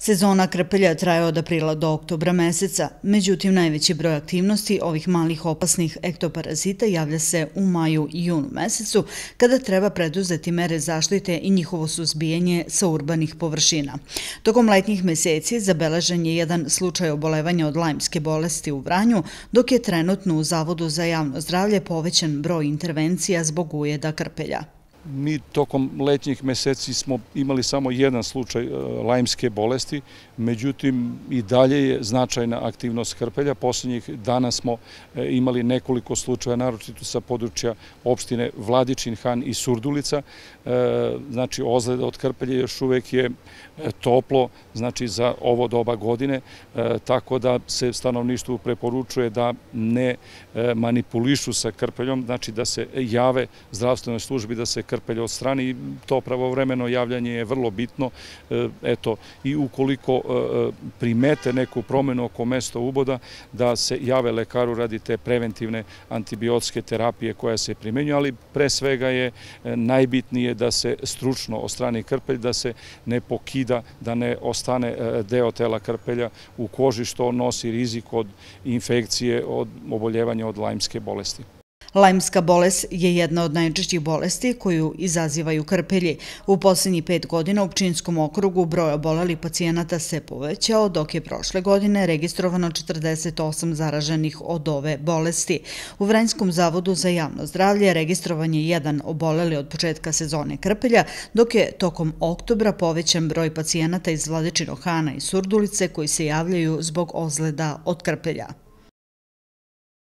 Sezona krpelja traje od aprila do oktobra meseca, međutim najveći broj aktivnosti ovih malih opasnih ektoparazita javlja se u maju i junu mesecu, kada treba preduzeti mere zaštite i njihovo suzbijanje sa urbanih površina. Tokom letnjih meseci zabeležen je jedan slučaj obolevanja od lajmske bolesti u Vranju, dok je trenutno u Zavodu za javno zdravlje povećan broj intervencija zbog ujeda krpelja. Mi tokom letnjih meseci smo imali samo jedan slučaj lajmske bolesti, međutim i dalje je značajna aktivnost krpelja. Poslednjih dana smo imali nekoliko slučaja, naročito sa područja opštine Vladičin Han i Surdulica. Znači, ozljeda od krpelja još uvek je toplo, znači za ovo doba godine, tako da se stanovništvu preporučuje da ne manipulišu sa krpeljom, znači da se jave zdravstvenoj službi, da se krpelj odstrani i to pravovremeno javljanje je vrlo bitno. Eto, i ukoliko primete neku promenu oko mesta uboda, da se jave lekaru radi te preventivne antibiotske terapije koja se primenjuje, ali pre svega je najbitnije da se stručno odstrani krpelj, da se ne pokida, da ne ostane deo tela krpelja u koži, što nosi rizik od infekcije, od oboljevanja od lajmske bolesti. Lajmska bolest je jedna od najčešćih bolesti koju izazivaju krpelji. U posljednjih 5 godina u Pčinjskom okrugu broj obolelih pacijenata se povećao, dok je prošle godine registrovano 48 zaraženih od ove bolesti. U Vranjskom zavodu za javno zdravlje registrovan je jedan oboleli od početka sezone krpelja, dok je tokom oktobra povećan broj pacijenata iz Vladičinog Hana i Surdulice koji se javljaju zbog ozljeda od krpelja.